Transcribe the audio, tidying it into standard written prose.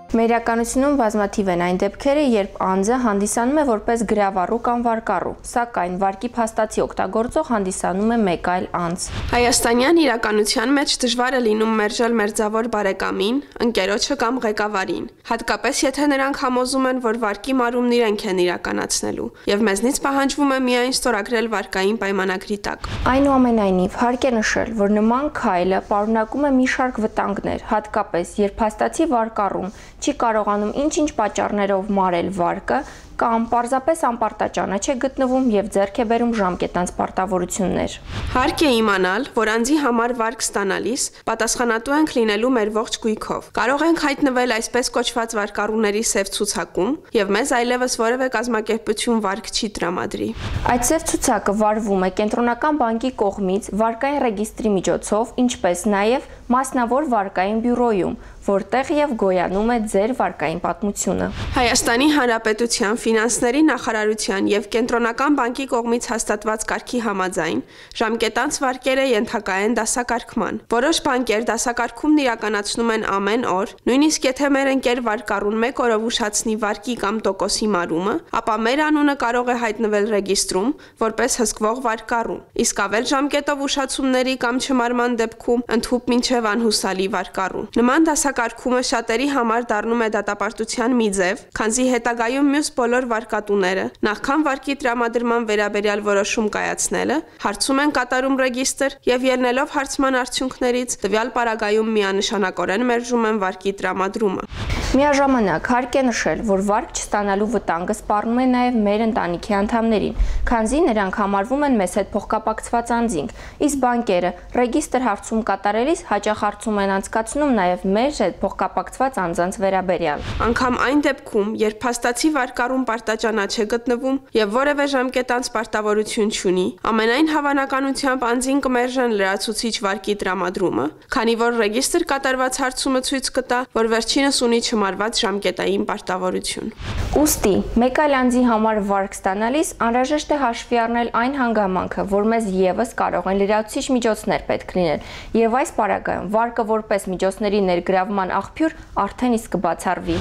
Մեր իրականությունում բազմաթիվ են այն դեպքերը, երբ անձը հանդիսանում է որպես գրավառու կամ վարկառու, սակայն վարկի փաստացի օգտագործող հանդիսանում է մեկ այլ անձ։ Հայաստանյան իրականության մեջ դժվար է լինում մերժել մերձավոր բարեկամին, ընկերոջը կամ ղեկավարին, հատկապես եթե նրանք համոզում են, որ վարկի մարումն իրենք են իրականացնելու, եւ մեզնից պահանջվում է միայն ստորագրել վարկային պայմանագրի տակ։ Այնուամենայնիվ, հարկ է նշել, որ նման քայլը պարունակում է մի շարք վտանգներ, հատկապես երբ փաստացի վարկառուն չի կարողանում ինչ-ինչ պատճառներով մարել վարկը կամ պարզապես անպարտաճանաչ է գտնվում եւ ձեռք է բերում ժամկետանց պարտավորություններ։ Հարկ է իմանալ, որ անձի համար վարկ ստանալիս պատասխանատու ենք լինելու մեր ողջ գույքով։ Կարող ենք հայտնվել այսպես կոչված վարկառուների սև ցուցակում եւ մեզ այլևս որևէ կազմակերպություն վարկ չի տրամադրի։ Այդ սև ցուցակը վարվում է կենտրոնական բանկի կողմից վարկային ռեգիստրի միջոցով, ինչպես նաեւ մասնավոր վարկային բյուրոյում, որտեղ եւ գոյանում է ձեր վարկային պատմությունը։ Հայաստանի Հանրապետության Ֆինանսների նախարարության եւ Կենտրոնական բանկի կողմից հաստատված կարգի համաձայն ժամկետանց վարկերը ենթակա են դասակարգման։ Որոշ բանկեր դասակարգումն իրականացնում են ամեն օր, նույնիսկ եթե մեր ընկեր վարկառուն 1 օրով ուշացնի վարկի կամ տոկոսի մարումը, ապա մեր անունը կարող է հայտնվել ռեգիստրում որպես հսկվող վարկառու։ Իսկ ավել ժամկետով ուշացումների կամ չմարման դեպքում ընդհուպ մինչև անհուսալի վարկառու։ Նման դասակարգումը շատերի համար դառնում է դատապարտության մի ձև, քանզի հետագայում մյուս բոլոր վարկատուները, նախքան վարկի տրամադրման վերաբերյալ որոշում կայացնելը, հարցում են կատարում ռեգիստր եւ ելնելով հարցման արդյունքներից տվյալ պարագայում միանշանակորեն մերժում են վարկի տրամադրումը։ Միաժամանակ հարկ է նշել, որ վարկ չստանալու վտանգը սպառնում է նաև մեր ընտանիքի անդամներին, քանզի նրանք համարվում են մեզ հետ փոխկապակցված անձինք, իսկ բանկերը ռեգիստր հարցում կատարելիս հաճախ հարցում են անցկացնում նաև մեր հետ փոխկապակցված անձանց վերաբերյալ։ Անգամ այն դեպքում, երբ փաստացի վարկառուն պարտաճանաչ է գտնվում եւ որևէ ժամկետանց պարտավորություն չունի, ամենայն հավանականությամբ անձին կմերժեն լրացուցիչ վարկի տրամադրումը, քանի որ ռեգիստր կատարված հարցումը ցույց կտա, որ վերջինս ունի չմարված ժամկետային պարտավորություն։ Ուստի, մեկ այլ անձի համար վարկ ստանալիս անհրաժեշտ է հաշվի առնել այն հանգամանքը, որ մեզ եւս կարող են լրացուցիչ միջոցներ պետք լինել, եւ այս պարագայում վարկը որպես միջոցների ներգրավման աղբյուր արդեն իսկ կբացառվի։